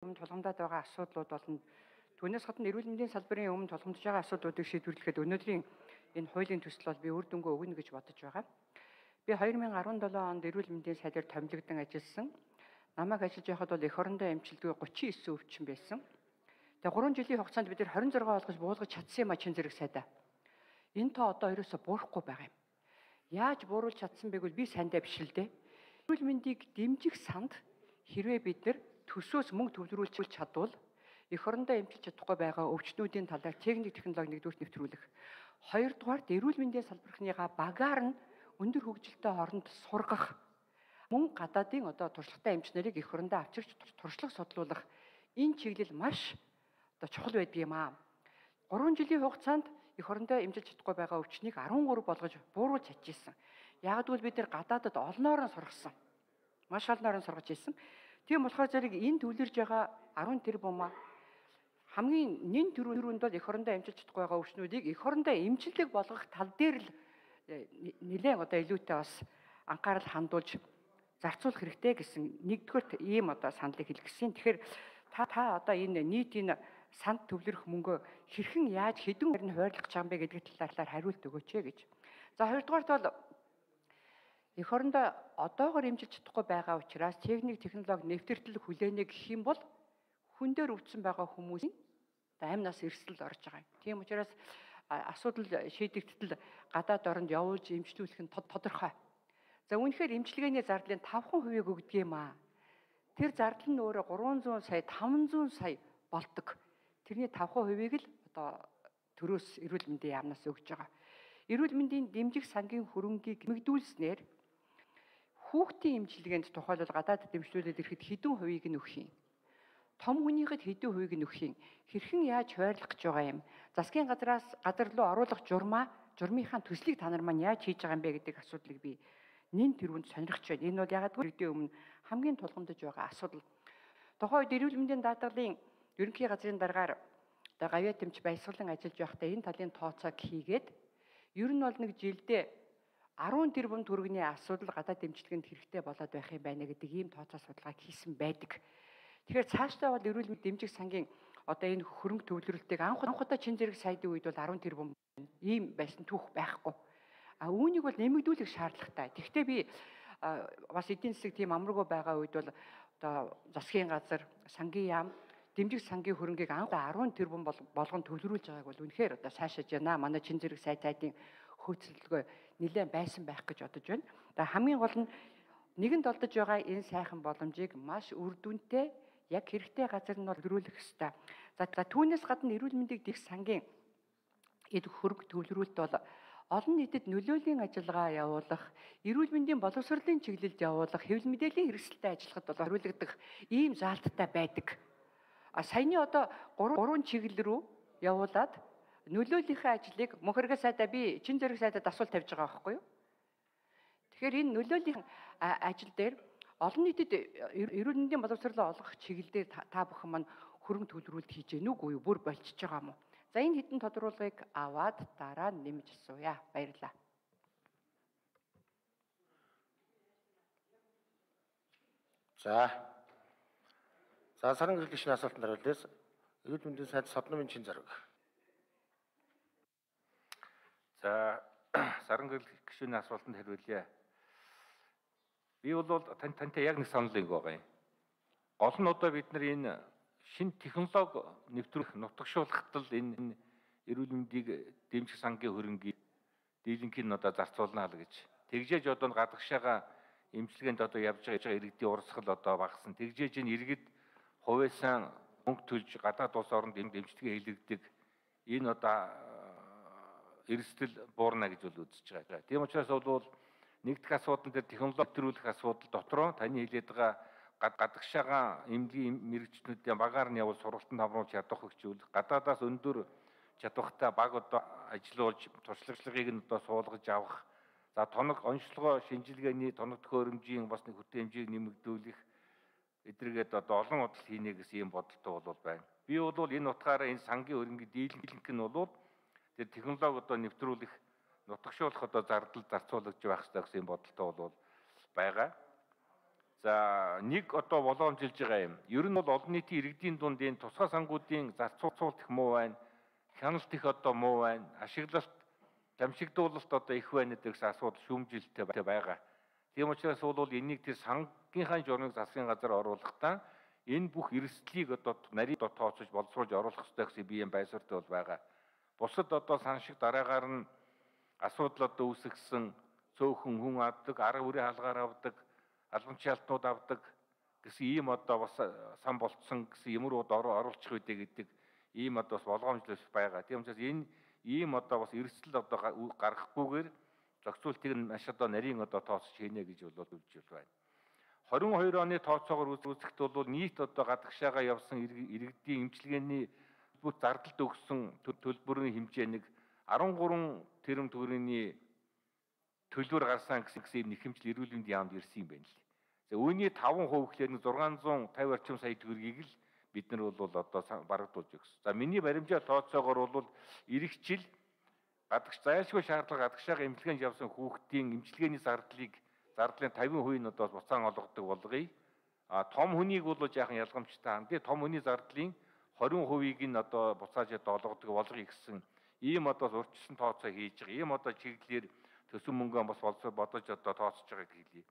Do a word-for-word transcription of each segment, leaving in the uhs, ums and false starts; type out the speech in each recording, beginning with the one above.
Өмнө тулгамдаад байгаа асуудлууд болон түүнээс гадна эрүүл мэндийн салбарын өмнө тулгамдж байгаа асуудлуудыг шийдвэрлэхэд өнөөдрийн энэ хуулийн төсөл бол би үр дүнгээ өгнө гэж бодож байгаа. Би хоёр мянган арван долоо онд эрүүл мэндийн сайдаар томилогдсон ажилласан. Намайг ажиллаж байхад бол эх орондоо эмчилгээ гучин девять өвчин байсан. Тэгээ гурван жилийн хугацаанд бид нэр хорин зураг олгож буулгаж чадсан юм а чин зэрэг сайдаа. Энэ тоо одоо ерөөсө буурахгүй байгаа юм. Яаж бууруулж чадсан бэ гэвэл би сандаа биш л дээ. Эрүүл мэндийг дэмжих санд хэрвээ бид нар төсөөс мөнгө төвлөрүүлж чадвал эх орондоо эмчилж чадахгүй байгаа өвчнүүдийн талаар техник технологи нэгдүгээр нэвтрүүлэх. Хоёрдугаар эрүүл мэндийн салбархныгаа багаар нь өндөр хөгжилтэй хооронд сургах. Мөн гадаадын одоо туршлагатай эмч нарыг эх орондоо авчирч туршлага судлуулах энэ чиглэл маш одоо чухал байдаг юм аа. гурван жилийн хугацаанд эх орондоо эмчилж чадахгүй байгаа өвчнийг арван гурав болгож бууруулж чадчихсан. Яг гэвэл бид нэр гадаадад олноор нь сургасан. Маш олноор нь сургаж ирсэн. Тийм болохоор зэрэг энэ төвлөрж байгаа арван тэрбум хамгийн нэн төрөнд бол эх орондоо эмчилж чадахгүй байгаа өвчнүүдийг эх орондоо эмчилэг болгох тал дээр л нэлээд одоо илүүтэй бас анхаарал хандуулж зарцуулах хэрэгтэй гэсэн нэгдүгээр ийм одоо саналыг хэлэх гэсэн. Тэгэхээр та та одоо энэ нийтийн санд төвлөрөх мөнгөө хэрхэн яаж хэдэн хэрэг нь хойрлох гэж байгаа юм бэ гэдэг талаар хариулт өгөөч гэж. За хоёрдугаарт бол эх орондоо одоогоор эмчилж чадахгүй байгаа учраас техник технологи нэвтрэлт хүлээнэ гэх юм бол хүн дээр өвдсөн байгаа хүмүүсийн амнаас эрсдэл орж байгаа юм. Тийм учраас асуудал шийдэгдэл гадаад оронд явуулж эмчлүүлэх нь тодорхой. За үүнхээр эмчилгээний зардлын тавхан хувийг өгдөг юм аа. Тэр зардал нь өөрөө гурван зуун сая, таван зуун сая болдог. Тэрний тавхан хувийг л одоо төрөөс эрүүл мэндийн яамнаас өгж байгаа. Эрүүл мэндийн дэмжих сангийн хөрөнгийг нэмэгдүүлснээр хүүхдийн эмчилгээнд тухайлбал гадаад дэмжлүүлээд ирэхэд хэдэн хувийг нь өгөх юм? Том хүнийхэд хэдэн хувийг нь өгөх юм? Хэрхэн яаж хойрлох гэж байгаа юм? Засгийн газраас газар руу оруулах журмаа, журмынхаа төслийг та нар маань яаж хийж байгаа юм бэ гэдэг асуудлыг би нэн тэрүүнд сонирхож байна. Энэ бол ягаад гэвэл өмнө хамгийн тулгамдж байгаа асуудал. Тухайн үед эрүүл мэндийн даатгалын ерөнхий газрын даргаар одоо гавьяа тэмч баясгалан ажиллаж байхдаа энэ талын тооцоог хийгээд ер нь бол нэг жилдээ арван тэрбум төгрөгийн асуудал гадаад дэмжлэгэнд хэрэгтэй болоод байх юм байна гэдэг ийм тооцоо судалгааг хийсэн байдаг. Тэгэхээр цаашдаа бол эрүүл мэндийн дэмжих сангийн одоо энэ хөрөнгө төвлөрөлтийг анх анхудаа чин зэрэг сайдын үед бол арван тэрбум ийм байсан түүх байхгүй. А үүнийг бол нэмэгдүүлэх шаардлагатай. Тэгэхдээ би бас эдийн засаг тийм амаргүй байгаа үед бол одоо засгийн газар, сангийн яам, дэмжих сангийн хөрөнгийг анх арван тэрбум болгон төвлөрүүлж байгааг бол үнэхээр одоо сайшааж байна. Манай чин зэрэг сайд сайдын хөөцөлгөө нэлээд байсан байх гэж бодож байна. Тэгээ хамгийн гол нь нэгэнд олдож байгаа энэ сайхан боломжийг маш үр дүнтэй яг хэрэгтэй газар нь бол төвлөрүүлэх ёстой. За түүнээс гадна эрүүл мэндийг дэх сангийн эд хөрөнгө төвлөрүүлэлт бол олон нийтэд нөлөөлийн ажиллагаа явуулах, эрүүл мэндийн боловсролын чиглэлд явуулах, хэвлэл мэдээллийн хэрэгсэлтэй ажиллахад бол хариулагдах ийм заалттай байдаг. А саяны одоо гурван чиглэл рүү явуулаад нөлөөллийнхээ ажлыг мөнхөргөө сайдаа би чин зэрэг сайдад асуулт тавьж байгаа байхгүй юу? Тэгэхээр энэ нөлөөллийн ажил дээр олон нийтэд эрүүл мэндийн боловсролоо олгох чиглэлээр та бүхэн маань хөрөнгө төвлөрүүлэлт хийж гэнэ үгүй юу? Бүр болчихж байгаа юм уу? За энэ хэдэн тодорхойлгыг аваад дараа нь нэмж асууя. Баярлалаа. За. За сарын гэрэл гишүүний асуултанд хариулъя. Эрүүл мэндийн сайд Содномын чин зэрэг. За сарын гэрэл гишүүний асуултанд хариулъя. Би бол тань тантай яг нэг санал нэг байгаа юм. Гол нь одоо бид нар энэ шинэ технологи нэвтрүүлэх нутагшуулахад л энэ эрүүл мэндийг дэмжих сангийн хөрөнгийг дийлэнхийн одоо зарцуулна л гэж. Тэгжээж одоо гадагшаага эмчилгээнд одоо явж байгаа иргэдийн урсгал одоо багассан. Тэгжээж энэ иргэд хувьяасан мөнгө төлж гадаад улс оронд дэмжлэгээ хийлгдэг. Энэ одоо эрсдэл буурна гэж бол үзэж байгаа. Тийм учраас бол нэгдэх асуудал дээр технологи нэвтрүүлэх асуудал дотроо таны хэлээд байгаа гадагшаага эмнэлгийн мэрэгчнүүдийн багаар нь явуул сургалтанд хамруулж ядах хөгжүүл гадаадаас өндөр чадвартай баг одоо ажиллуулж туршлагыг нь одоо суулгаж авах. За тоног онцлогоо шинжилгээний тоног төхөөрөмжийн бас нэг хүтэн хэмжээг нэмэгдүүлэх эдрэгээд одоо олон удаа хийнэ гэсэн ийм бодолтой бол байна. Би бол энэ утгаараа энэ сангийн хөрөнгийг дийлэнх нь бол тэр технологи одоо нэвтрүүлэх нутагшуулах одоо зардал зарцуулж байх хэрэгтэй гэсэн бодолтой бол байгаа. За нэг одоо боломжилж байгаа юм. Ер нь бол олон нийтийн иргэдийн дунд энэ тусгай сангуудын зарцуулалт их муу байна. Хяналт их одоо муу байна. Ашиглалт, дамжигдуулалт одоо их байна гэсэн асуудал шүүмжилттэй байгаа. Тийм учраас бол энийг тэр сангийнхаа журмыг засгийн газар оруулахдаа энэ бүх эрсдлийг одоо нарийн дот тооцож боловсруулж оруулах хэрэгтэй гэсэн би юм байсвартай бол байгаа. Бусад одоо сан шиг дараагаар нь асуудал одоо үүсгэсэн цөөхөн хүн авдаг, арга үрийн хаалгаар авдаг, албанчийн алтнууд авдаг гэсэн ийм одоо бас сан болцсон гэсэн юмрууд оруулчих үедээ гэдэг ийм одоо бас болгоомжлол байгаа. Тийм учраас энэ ийм одоо бас эрсдэл одоо гаргахгүйгээр зохицуултыг нь маш одоо нарийн одоо тооцож хийнэ гэж бол үзэж байна. хорин хоёр оны тооцоогоор үзэхэд бол нийт одоо гадагшаага явсан иргэдийн эмчилгээний бүх зардалд өгсөн төлбөрийн хэмжээ нэг арван гурван тэрбум төгрөгийн төлбөр гарсан гэсэн юм нэхэмжил эрүүл мэндийн яамд ирсэн юм байна л. За үүний таван хувь гэхээр нэг зургаан зуун тавь орчим сая төгрөгийг л бид нар бол одоо барагдуулж өгсөн. За миний баримжаа тооцоогоор бол эх жил гадагш зайлшгүй шаардлага гадагшаага эмчилгээнд явсан хүүхдийн эмчилгээний зардлыг зардлын тавин хувийг нь одоо буцаан олгодог болгоё. А том хүнийг бол жаахан ялгамжтай хам. Тэгээ том хүний зардлын хорин хувийг нь одоо буцааж одоо олгодог болгоё гэсэн ийм одоо урьдчилан тооцоо хийж байгаа. Ийм одоо чиглэлээр төсөв мөнгөө бас болцоо бодож одоо тооцож байгааг хэлье.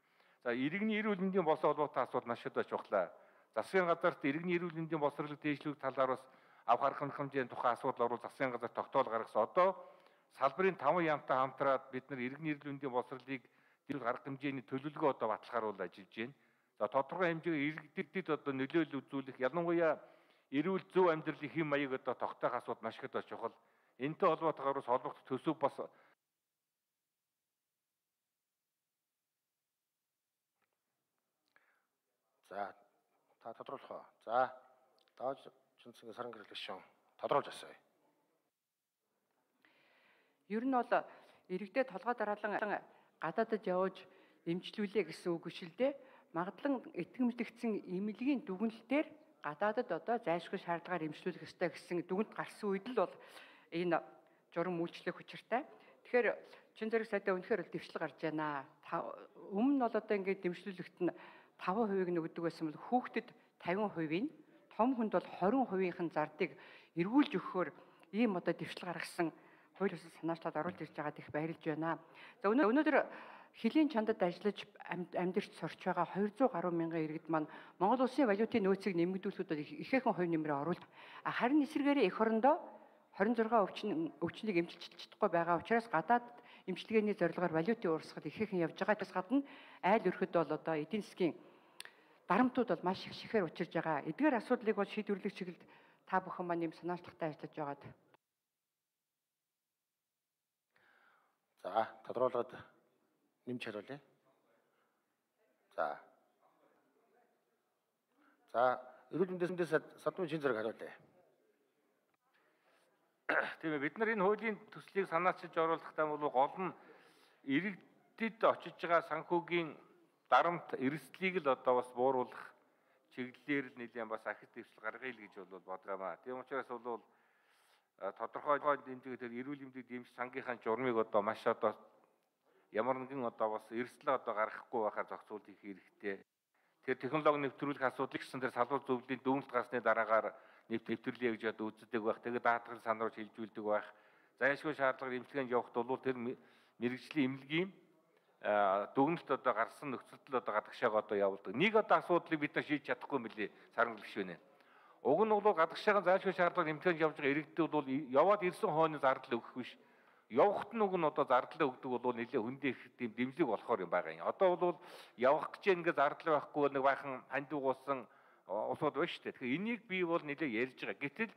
За иргэний эрүүл мэндийн болон холбоотой асуудал маш одоо чухлаа. Засгийн газарт иргэний эрүүл мэндийн боловсролыг дээшлэх талаар бас авах арга хэмжээний тухай асуудал орвол засгийн газар тогтоол гаргасан. Одоо салбарын таван яамтай хамтраад бид нар иргэний эрүүл мэндийн боловсролыг дэрэг арга хэмжээний төлөвлөгөө одоо баталгааруул ажиллаж байна. За тодорхой хэмжээгээр иргэдэд одоо нөлөөлөл үзүүлэх, ялангуяа эрүүл зөв амьдралын хэм маяг одоо тогтоох асуудал маш их одоо чухал. Энэтэй холбоотойгоор бас холбогдох төсөв бас За та тодруулах уу? За дааж Чинцгийн саран гэрэл гишүүн тодруулж асууя. Ер нь бол иргэдэд толгой дараалан гадаадд явж эмчлүүлээ гэсэн үг биш л дээ. Магадлан итгэмжлэгдсэн эмнэлгийн дүгнэлтээр гадаадд одоо зайлшгүй шаардлагаар эмчлүүлэх ёстой гэсэн дүгнэлт гарсан үед л бол энэ журам үйлчлэх учиртай. Тэгэхээр чин зэрэг сайдаа үнэхээр л дэвшил гарч байна. Өмнө нь бол одоо ингээд дэмжлүүлэгт нь таван хувийг нөгдөг байсан бол хүүхдэд тавин хувийн, том хүнд бол хорин хувийнхэн зардыг эргүүлж өгөхөөр ийм одоо дэвшил гаргасан хууль ёсны санаачлаад оруулж ирж байгаад их баярлж байна. За өнөөдөр хилийн чандад ажиллаж амьдарч сурч байгаа двести гаруй мянган иргэд маань Монгол улсын валютын нөөцийг нэмэгдүүлэхэд ихээхэн хувь нэмрээ оруулж, харин эсвэргээрээ эх орондоо хорин зургаан өвчин өвчнийг эмчилж чадахгүй байгаа учраас гадаад эмчилгээний зорилгоор валютын урсгал ихээхэн явж байгаас гадна айл өрхөд бол одоо эдийн засгийн дарамтууд бол маш их шихээр учирж байгаа. Эдгээр асуудлыг бол шийдвэрлэх чиглэлд та бүхэн маань юм санаачлагтай ажиллаж байгаад. За тодруулаад нэмж хариулъя. За. За эрүүл мэндээс садмын чин зэрэг хариулъя. Тийм ээ, бид нар энэ хуулийн төслийг санаачилж оруулахдаа бол гол нь иргэдэд очиж байгаа санхүүгийн дарамт эрсдлийг л одоо бас бууруулах чиглэлээр л нэлээд бас ахиц дэвшил гаргая л гэж бол бодгоомаа. Тийм учраас бол тодорхой хэмжээгээр тэр эрүүл мэндийн дэмж сангийнхаа журмыг одоо маш одоо ямар нэгэн одоо бас эрсдэл одоо гаргахгүй байхаар зохицуул хийх хэрэгтэй. Тэр технологи нэвтрүүлэх асуудлыг гэсэн тэр салбар зөвлөлийн дүгнэлт гарсны дараагаар нэвтрлээ гэж одоо үздэг байх. Тэгээд даатгал санааруулж хилжүүлдэг байх. Зайлшгүй шаардлагаар эмчилгээнд явахд бол тэр мэрэгжлийн эмнэлгийн дүгнэлт одоо гарсан нөхцөлд одоо гадагшаага одоо явуулдаг. Нэг одоо асуудлыг бид нар шийдэж чадахгүй юм билий саран гэрэлшвэнэ. Уг нь бол гадагшаагийн зайлшгүй шаардлагаар эмчилгээнд явж байгаа иргэдэд бол яваад ирсэн хойно зардал өгөх биш. Явахт нь уг нь одоо зардал өгдөг бол нэлээ хөндөө их тийм дэмжлэг болохоор юм байгаа юм. Одоо бол явах гэж ингээд зардал байхгүй нэг байхан хандуугуулсан улсууд байна шүү дээ. Тэгэхээр энийг би бол нэлээ ярьж байгаа. Гэтэл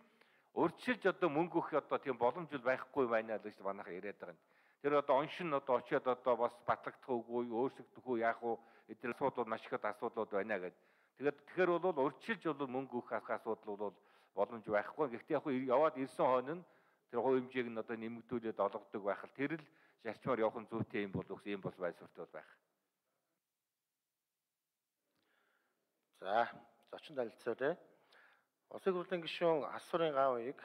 урьдчилж одоо мөнгө өгөх одоо тийм боломж байхгүй байна л гэж манайха яриад байгаа юм. Тэр одоо оншин одоо очиод одоо бас батлагдах үгүй, өөрсгөх үү, яах вэ? Эдгээр асуудал маш их асуудлууд байна гэдэг. Тэгээд тэгэхээр бол урьдчилж бол мөнгө өгөх асуудал бол боломж байхгүй. Гэхдээ яг яваад ирсэн хойно нь тэр хувь хэмжээг нь одоо нэмэгдүүлээд олгодог байх л тэр л зарчмаар явах нь зүйтэй юм бол үс юм бол байсвартай байх. За, зочин танилцуулъя. Улсын хурлын гишүүн Асуурын гав үеийг